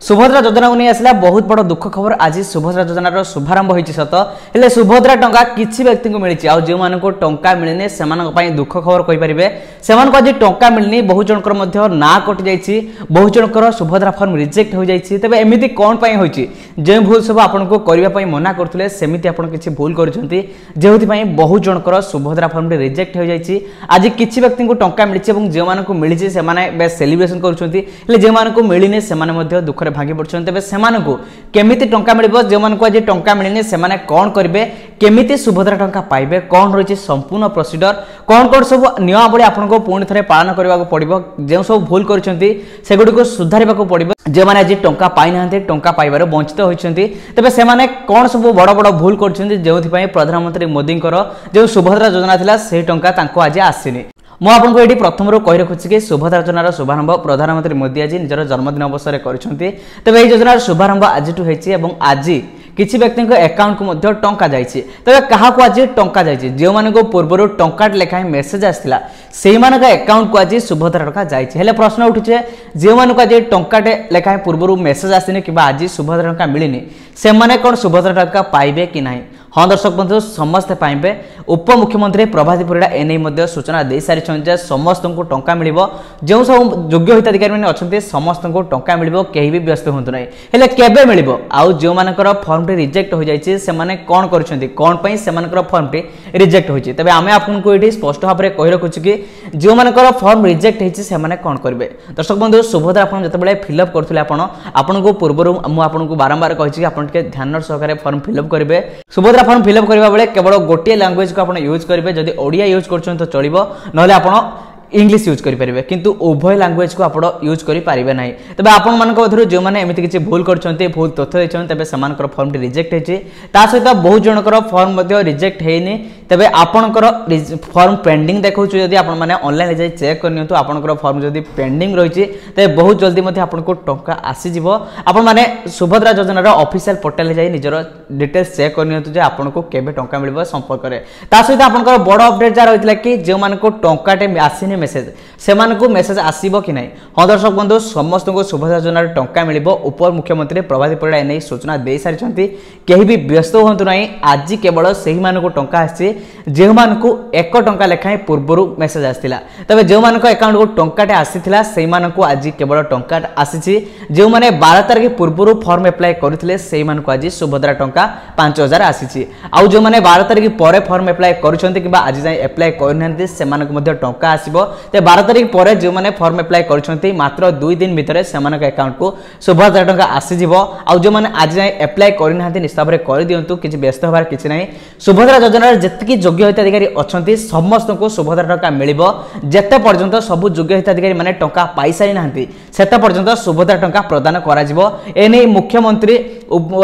ସୁଭଦ୍ରା ଯୋଜନାକୁ ନେଇ ଆସିଲା ବହୁତ ବଡ଼ ଦୁଃଖ ଖବର। ଆଜି ସୁଭଦ୍ରା ଯୋଜନାର ଶୁଭାରମ୍ଭ ହୋଇଛି ସତ, ହେଲେ ସୁଭଦ୍ରା ଟଙ୍କା କିଛି ବ୍ୟକ୍ତିଙ୍କୁ ମିଳିଛି, ଆଉ ଯେଉଁମାନଙ୍କୁ ଟଙ୍କା ମିଳିନି ସେମାନଙ୍କ ପାଇଁ ଦୁଃଖ ଖବର କହିପାରିବେ। ସେମାନଙ୍କୁ ଆଜି ଟଙ୍କା ମିଳିନି, ବହୁ ଜଣଙ୍କର ମଧ୍ୟ ନାଁ କଟିଯାଇଛି, ବହୁ ଜଣଙ୍କର ସୁଭଦ୍ରା ଫର୍ମ ରିଜେକ୍ଟ ହୋଇଯାଇଛି। ତେବେ ଏମିତି କ'ଣ ପାଇଁ ହୋଇଛି? ଯେଉଁ ଭୁଲ ସବୁ ଆପଣଙ୍କୁ କରିବା ପାଇଁ ମନା କରୁଥିଲେ ସେମିତି ଆପଣ କିଛି ଭୁଲ କରୁଛନ୍ତି, ଯେଉଁଥିପାଇଁ ବହୁ ଜଣଙ୍କର ସୁଭଦ୍ରା ଫର୍ମଟି ରିଜେକ୍ଟ ହୋଇଯାଇଛି। ଆଜି କିଛି ବ୍ୟକ୍ତିଙ୍କୁ ଟଙ୍କା ମିଳିଛି ଏବଂ ଯେଉଁମାନଙ୍କୁ ମିଳିଛି ସେମାନେ ବେଶ ସେଲିବ୍ରେସନ କରୁଛନ୍ତି, ହେଲେ ଯେଉଁମାନଙ୍କୁ ମିଳିନି ସେମାନେ ମଧ୍ୟ ଦୁଃଖରେ ଭାଙ୍ଗି ପଡୁଛନ୍ତି। ତେବେ ସେମାନଙ୍କୁ କେମିତି ଟଙ୍କା ମିଳିବ? ଯେଉଁମାନଙ୍କୁ ଆଜି ଟଙ୍କା ମିଳିନି ସେମାନେ କ'ଣ କରିବେ? କେମିତି ସୁଭଦ୍ରା ଟଙ୍କା ପାଇବେ? କ'ଣ ରହିଛି ସମ୍ପୂର୍ଣ୍ଣ ପ୍ରୋସିଡର? କ'ଣ କ'ଣ ସବୁ ନିୟମାବଳୀ ଆପଣଙ୍କୁ ପୁଣି ଥରେ ପାଳନ କରିବାକୁ ପଡ଼ିବ? ଯେଉଁ ସବୁ ଭୁଲ କରିଛନ୍ତି ସେଗୁଡ଼ିକୁ ସୁଧାରିବାକୁ ପଡ଼ିବ। ଯେଉଁମାନେ ଆଜି ଟଙ୍କା ପାଇନାହାନ୍ତି, ଟଙ୍କା ପାଇବାରୁ ବଞ୍ଚିତ ହୋଇଛନ୍ତି, ତେବେ ସେମାନେ କ'ଣ ସବୁ ବଡ଼ ବଡ଼ ଭୁଲ କରୁଛନ୍ତି ଯେଉଁଥିପାଇଁ ପ୍ରଧାନମନ୍ତ୍ରୀ ମୋଦିଙ୍କର ଯେଉଁ ସୁଭଦ୍ରା ଯୋଜନା ଥିଲା ସେହି ଟଙ୍କା ତାଙ୍କୁ ଆଜି ଆସିନି? ମୁଁ ଆପଣଙ୍କୁ ଏଠି ପ୍ରଥମରୁ କହି ରଖୁଛି କି ସୁଭଦ୍ରା ଯୋଜନାର ଶୁଭାରମ୍ଭ ପ୍ରଧାନମନ୍ତ୍ରୀ ମୋଦି ଆଜି ନିଜର ଜନ୍ମଦିନ ଅବସରରେ କରିଛନ୍ତି। ତେବେ ଏହି ଯୋଜନାର ଶୁଭାରମ୍ଭ ଆଜିଠୁ ହେଇଛି ଏବଂ ଆଜି କିଛି ବ୍ୟକ୍ତିଙ୍କ ଆକାଉଣ୍ଟକୁ ମଧ୍ୟ ଟଙ୍କା ଯାଇଛି। ତେବେ କାହାକୁ ଆଜି ଟଙ୍କା ଯାଇଛି? ଯେଉଁମାନଙ୍କୁ ପୂର୍ବରୁ ଟଙ୍କାଟେ ଲେଖାଏଁ ମେସେଜ ଆସିଥିଲା ସେଇମାନଙ୍କ ଆକାଉଣ୍ଟକୁ ଆଜି ସୁଭଦ୍ରା ଟଙ୍କା ଯାଇଛି। ହେଲେ ପ୍ରଶ୍ନ ଉଠୁଛି, ଯେଉଁମାନଙ୍କୁ ଆଜି ଟଙ୍କାଟେ ଲେଖାଏଁ ପୂର୍ବରୁ ମେସେଜ ଆସିନି କିମ୍ବା ଆଜି ସୁଭଦ୍ରା ଟଙ୍କା ମିଳିନି ସେମାନେ କ'ଣ ସୁଭଦ୍ରା ଟଙ୍କା ପାଇବେ କି ନାହିଁ? ହଁ ଦର୍ଶକ ବନ୍ଧୁ, ସମସ୍ତେ ପାଇବେ। ଉପମୁଖ୍ୟମନ୍ତ୍ରୀ ପ୍ରଭାତୀ ପରିଡ଼ା ଏନେଇ ମଧ୍ୟ ସୂଚନା ଦେଇସାରିଛନ୍ତି ଯେ ସମସ୍ତଙ୍କୁ ଟଙ୍କା ମିଳିବ। ଯେଉଁ ସବୁ ଯୋଗ୍ୟ ହିତାଧିକାରୀମାନେ ଅଛନ୍ତି ସମସ୍ତଙ୍କୁ ଟଙ୍କା ମିଳିବ, କେହି ବି ବ୍ୟସ୍ତ ହୁଅନ୍ତୁ ନାହିଁ। ହେଲେ କେବେ ମିଳିବ? ଆଉ ଯେଉଁମାନଙ୍କର ଫର୍ମଟି ରିଜେକ୍ଟ ହୋଇଯାଇଛି ସେମାନେ କ'ଣ କରିଛନ୍ତି? କ'ଣ ପାଇଁ ସେମାନଙ୍କର ଫର୍ମଟି ରିଜେକ୍ଟ ହୋଇଛି? ତେବେ ଆମେ ଆପଣଙ୍କୁ ଏଠି ସ୍ପଷ୍ଟ ଭାବରେ କହି ରଖୁଛୁ କି ଯେଉଁମାନଙ୍କର ଫର୍ମ ରିଜେକ୍ଟ ହେଇଛି ସେମାନେ କ'ଣ କରିବେ। ଦର୍ଶକ ବନ୍ଧୁ, ସୁଭଦ୍ରା ଆପଣ ଯେତେବେଳେ ଫିଲ୍ଅପ୍ କରୁଥିଲେ, ଆପଣ ଆପଣଙ୍କୁ ପୂର୍ବରୁ ମୁଁ ଆପଣଙ୍କୁ ବାରମ୍ବାର କହିଛି କି ଆପଣ ଟିକେ ଧ୍ୟାନ ସହକାରେ ଫର୍ମ ଫିଲ୍ଅପ୍ କରିବେ। ସୁଭଦ୍ରା ଫର୍ମ ଫିଲ୍ଅପ୍ କରିବା ବେଳେ କେବଳ ଗୋଟିଏ ଲାଙ୍ଗୁଏଜକୁ ଆପଣ ୟୁଜ୍ କରିବେ। ଯଦି ଓଡ଼ିଆ ୟୁଜ୍ କରୁଛନ୍ତି ତ ଚଳିବ, ନହେଲେ ଆପଣ ଇଂଲିଶ ୟୁଜ୍ କରିପାରିବେ, କିନ୍ତୁ ଉଭୟ ଲାଙ୍ଗୁଏଜକୁ ଆପଣ ୟୁଜ୍ କରିପାରିବେ ନାହିଁ। ତେବେ ଆପଣମାନଙ୍କ ମଧ୍ୟରୁ ଯେଉଁମାନେ ଏମିତି କିଛି ଭୁଲ କରିଛନ୍ତି, ଭୁଲ ତଥ୍ୟ ଦେଇଛନ୍ତି, ତେବେ ସେମାନଙ୍କର ଫର୍ମଟି ରିଜେକ୍ଟ ହେଇଛି। ତା ସହିତ ବହୁତ ଜଣଙ୍କର ଫର୍ମ ମଧ୍ୟ ରିଜେକ୍ଟ ହେଇନି। ତେବେ ଆପଣଙ୍କର ଫର୍ମ ପେଣ୍ଡିଂ ଦେଖାଉଛି, ଯଦି ଆପଣମାନେ ଅନଲାଇନ୍ ଯାଇ ଚେକ୍ କରିନିଅନ୍ତୁ। ଆପଣଙ୍କର ଫର୍ମ ଯଦି ପେଣ୍ଡିଂ ରହିଛି ତେବେ ବହୁତ ଜଲ୍ଦି ମଧ୍ୟ ଆପଣଙ୍କୁ ଟଙ୍କା ଆସିଯିବ। ଆପଣମାନେ ସୁଭଦ୍ରା ଯୋଜନାର ଅଫିସିଆଲ ପୋର୍ଟାଲରେ ଯାଇ ନିଜର ଡିଟେଲ୍ସ ଚେକ୍ କରିନିଅନ୍ତୁ ଯେ ଆପଣଙ୍କୁ କେବେ ଟଙ୍କା ମିଳିବ ସମ୍ପର୍କରେ। ତା ସହିତ ଆପଣଙ୍କର ବଡ଼ ଅପଡେଟ୍ ଯାହା ରହିଥିଲା କି ଯେଉଁମାନଙ୍କୁ ଟଙ୍କାଟେ ଆସିନି ମେସେଜ, ସେମାନଙ୍କୁ ମେସେଜ ଆସିବ କି ନାହିଁ? ହଁ ଦର୍ଶକ ବନ୍ଧୁ, ସମସ୍ତଙ୍କୁ ସୁଭଦ୍ରା ଯୋଜନାର ଟଙ୍କା ମିଳିବ। ଉପମୁଖ୍ୟମନ୍ତ୍ରୀ ପ୍ରଭାତୀ ପରିଡ଼ା ଏନେଇ ସୂଚନା ଦେଇସାରିଛନ୍ତି, କେହି ବି ବ୍ୟସ୍ତ ହୁଅନ୍ତୁ ନାହିଁ। ଆଜି କେବଳ ସେହିମାନଙ୍କୁ ଟଙ୍କା ଆସିଛି ଯେଉଁମାନଙ୍କୁ 1 ଟଙ୍କା ଲେଖାଏଁ ପୂର୍ବରୁ ମେସେଜ ଆସିଥିଲା। ତେବେ ଯେଉଁମାନଙ୍କ ଆକାଉଣ୍ଟକୁ ଟଙ୍କାଟେ ଆସିଥିଲା ସେଇମାନଙ୍କୁ ଆଜି କେବଳ ଟଙ୍କା ଆସିଛି। ଯେଉଁମାନେ 12 ତାରିଖ ପୂର୍ବରୁ ଫର୍ମ ଆପ୍ଲାଏ କରିଥିଲେ ସେଇମାନଙ୍କୁ ଆଜି ସୁଭଦ୍ରା ଟଙ୍କା 5000 ଆସିଛି। ଆଉ ଯେଉଁମାନେ 12 ତାରିଖ ପରେ ଫର୍ମ ଆପ୍ଲାଏ କରିଛନ୍ତି କିମ୍ବା ଆଜି ଯାଏଁ ଆପ୍ଲାଏ କରିନାହାନ୍ତି ସେମାନଙ୍କୁ ମଧ୍ୟ ଟଙ୍କା ଆସିବ। ତେବେ 12 ତାରିଖ ପରେ ଯେଉଁମାନେ ଫର୍ମ ଆପ୍ଲାଏ କରିଛନ୍ତି ମାତ୍ର 2 ଦିନ ଭିତରେ ସେମାନଙ୍କ ଆକାଉଣ୍ଟକୁ ସୁଭଦ୍ରା ଟଙ୍କା ଆସିଯିବ। ଆଉ ଯେଉଁମାନେ ଆଜି ଯାଏଁ ଆପ୍ଲାଏ କରିନାହାନ୍ତି ନିଶ୍ଚିତ ଭାବରେ କରିଦିଅନ୍ତୁ, କିଛି ବ୍ୟସ୍ତ ହେବାର କିଛି ନାହିଁ। ସୁଭଦ୍ରା ଯୋଜନାର ଯେତିକି ଯୋଗ୍ୟ ହିତାଧିକାରୀ ଅଛନ୍ତି ସମସ୍ତଙ୍କୁ ସୁଭଦ୍ରା ଟଙ୍କା ମିଳିବ। ଯେତେ ପର୍ଯ୍ୟନ୍ତ ସବୁ ଯୋଗ୍ୟ ହିତାଧିକାରୀ ମାନେ ଟଙ୍କା ପାଇସାରି ନାହାନ୍ତି ସେତେ ପର୍ଯ୍ୟନ୍ତ ସୁଭଦ୍ରା ଟଙ୍କା ପ୍ରଦାନ କରାଯିବ। ଏନେଇ ମୁଖ୍ୟମନ୍ତ୍ରୀ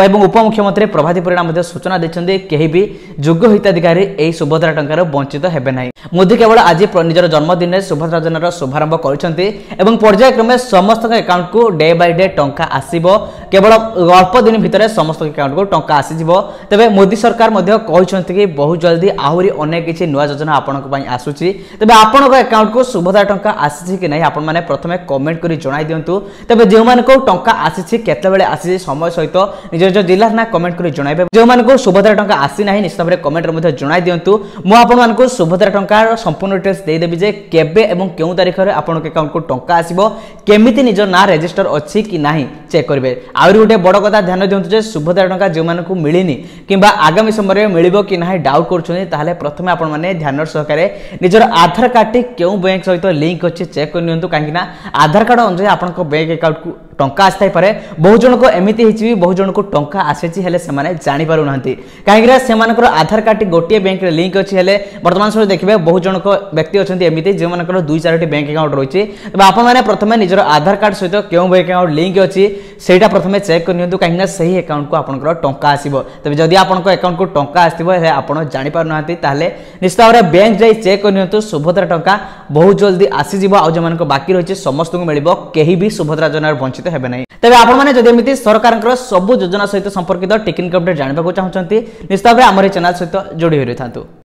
ଏବଂ ଉପମୁଖ୍ୟମନ୍ତ୍ରୀ ପ୍ରଭାତୀ ପରିଡ଼ା ମଧ୍ୟ ସୂଚନା ଦେଇଛନ୍ତି, କେହି ବି ଯୋଗ୍ୟ ହିତାଧିକାରୀ ଏହି ସୁଭଦ୍ରା ଟଙ୍କାରୁ ବଞ୍ଚିତ ହେବେ ନାହିଁ। ମୋଦି କେବଳ ଆଜି ନିଜର ଜନ୍ମଦିନରେ ସୁଭଦ୍ରା ଯୋଜନାର ଶୁଭାରମ୍ଭ କରିଛନ୍ତି ଏବଂ ପର୍ଯ୍ୟାୟକ୍ରମେ ସମସ୍ତଙ୍କ ଆକାଉଣ୍ଟକୁ ଡେ ବାଇ ଡେ ଟଙ୍କା ଆସିବ। କେବଳ ଅଳ୍ପ ଦିନ ଭିତରେ ସମସ୍ତଙ୍କ ଆକାଉଣ୍ଟକୁ ଟଙ୍କା ଆସିଯିବ। ତେବେ ମୋଦି ସରକାର ମଧ୍ୟ କହିଛନ୍ତି କି ବହୁତ ଜଲ୍ଦି ଆହୁରି ଅନେକ କିଛି ନୂଆ ଯୋଜନା ଆପଣଙ୍କ ପାଇଁ ଆସୁଛି। ତେବେ ଆପଣଙ୍କ ଆକାଉଣ୍ଟକୁ ସୁଭଦ୍ରା ଟଙ୍କା ଆସିଛି କି ନାହିଁ ଆପଣମାନେ ପ୍ରଥମେ କମେଣ୍ଟ କରି ଜଣାଇ ଦିଅନ୍ତୁ। ତେବେ ଯେଉଁମାନଙ୍କୁ ଟଙ୍କା ଆସିଛି, କେତେବେଳେ ଆସିଛି, ସମୟ ସହିତ ନିଜ ନିଜ ଜିଲ୍ଲାର ନାଁ କମେଣ୍ଟ କରି ଜଣାଇବେ। ଯେଉଁମାନଙ୍କୁ ସୁଭଦ୍ରା ଟଙ୍କା ଆସିନାହିଁ ନିଶ୍ଚିତ ଭାବରେ କମେଣ୍ଟରେ ମଧ୍ୟ ଜଣାଇ ଦିଅନ୍ତୁ। ମୁଁ ଆପଣମାନଙ୍କୁ ସୁଭଦ୍ରା ଟଙ୍କାର ସମ୍ପୂର୍ଣ୍ଣ ଡିଟେଲ୍ସ ଦେଇଦେବି ଯେ କେବେ ଏବଂ କେଉଁ ତାରିଖରେ ଆପଣଙ୍କ ଆକାଉଣ୍ଟକୁ ଟଙ୍କା ଆସିବ, କେମିତି ନିଜ ନାଁ ରେଜିଷ୍ଟର ଅଛି କି ନାହିଁ ଚେକ୍ କରିବେ। ଆହୁରି ଗୋଟେ ବଡ଼ କଥା ଧ୍ୟାନ ଦିଅନ୍ତୁ ଯେ ସୁଭଦ୍ରା ଟଙ୍କା ଯେଉଁମାନଙ୍କୁ ମିଳିନି କିମ୍ବା ଆଗାମୀ ସମୟରେ ମିଳିବ କି ନାହିଁ ଡାଉଟ୍ କରୁଛନ୍ତି, ତାହେଲେ ପ୍ରଥମେ ଆପଣମାନେ ଧ୍ୟାନ ସହକାରେ ନିଜର ଆଧାର କାର୍ଡ଼ଟି କେଉଁ ବ୍ୟାଙ୍କ ସହିତ ଲିଙ୍କ ଅଛି ଚେକ୍ କରିନିଅନ୍ତୁ। କାହିଁକିନା ଆଧାର କାର୍ଡ଼ ଅନୁଯାୟୀ ଆପଣଙ୍କ ବ୍ୟାଙ୍କ ଆକାଉଣ୍ଟକୁ ଟଙ୍କା ଆସିଥାଇପାରେ। ବହୁ ଜଣଙ୍କ ଏମିତି ହେଇଛି ବି ବହୁ ଜଣଙ୍କୁ ଟଙ୍କା ଆସିଛି ହେଲେ ସେମାନେ ଜାଣିପାରୁନାହାନ୍ତି, କାହିଁକିନା ସେମାନଙ୍କର ଆଧାର କାର୍ଡ଼ଟି ଗୋଟିଏ ବ୍ୟାଙ୍କରେ ଲିଙ୍କ ଅଛି। ହେଲେ ବର୍ତ୍ତମାନ ସମୟରେ ଦେଖିବେ ବହୁ ଜଣଙ୍କ ବ୍ୟକ୍ତି ଅଛନ୍ତି ଏମିତି ଯେଉଁମାନଙ୍କର 2 4ଟି ବ୍ୟାଙ୍କ ଆକାଉଣ୍ଟ ରହିଛି। ତେବେ ଆପଣମାନେ ପ୍ରଥମେ ନିଜର ଆଧାର କାର୍ଡ଼ ସହିତ କେଉଁ ବ୍ୟାଙ୍କ ଆକାଉଣ୍ଟ ଲିଙ୍କ ଅଛି ସେଇଟା ପ୍ରଥମେ ଚେକ୍ କରିନିଅନ୍ତୁ, କାହିଁକିନା ସେହି ଆକାଉଣ୍ଟକୁ ଆପଣଙ୍କର ଟଙ୍କା ଆସିବ। ତେବେ ଯଦି ଆପଣଙ୍କ ଆକାଉଣ୍ଟକୁ ଟଙ୍କା ଆସିଥିବ ହେଲେ ଆପଣ ଜାଣିପାରୁନାହାନ୍ତି, ତାହେଲେ ନିଶ୍ଚିତ ଭାବରେ ବ୍ୟାଙ୍କ ଯାଇ ଚେକ୍ କରିନିଅନ୍ତୁ। ସୁଭଦ୍ରା ଟଙ୍କା ବହୁତ ଜଲ୍ଦି ଆସିଯିବ, ଆଉ ଯେଉଁମାନଙ୍କ ବାକି ରହିଛି ସମସ୍ତଙ୍କୁ ମିଳିବ, କେହି ବି ସୁଭଦ୍ରା ଯୋଜନାରୁ ବଞ୍ଚିତ ହେବେ ନାହିଁ। ତେବେ ଆପଣମାନେ ଯଦି ଏମିତି ସରକାରଙ୍କର ସବୁ ଯୋଜନା ସହିତ ସମ୍ପର୍କିତ ଟେକ୍ନିକ ଅପଡେଟ୍ ଜାଣିବାକୁ ଚାହୁଁଛନ୍ତି ନିଶ୍ଚିତ ଭାବରେ ଆମର ଏହି ଚ୍ୟାନେଲ ସହିତ ଯୋଡ଼ି ହୋଇ ରହିଥାନ୍ତୁ।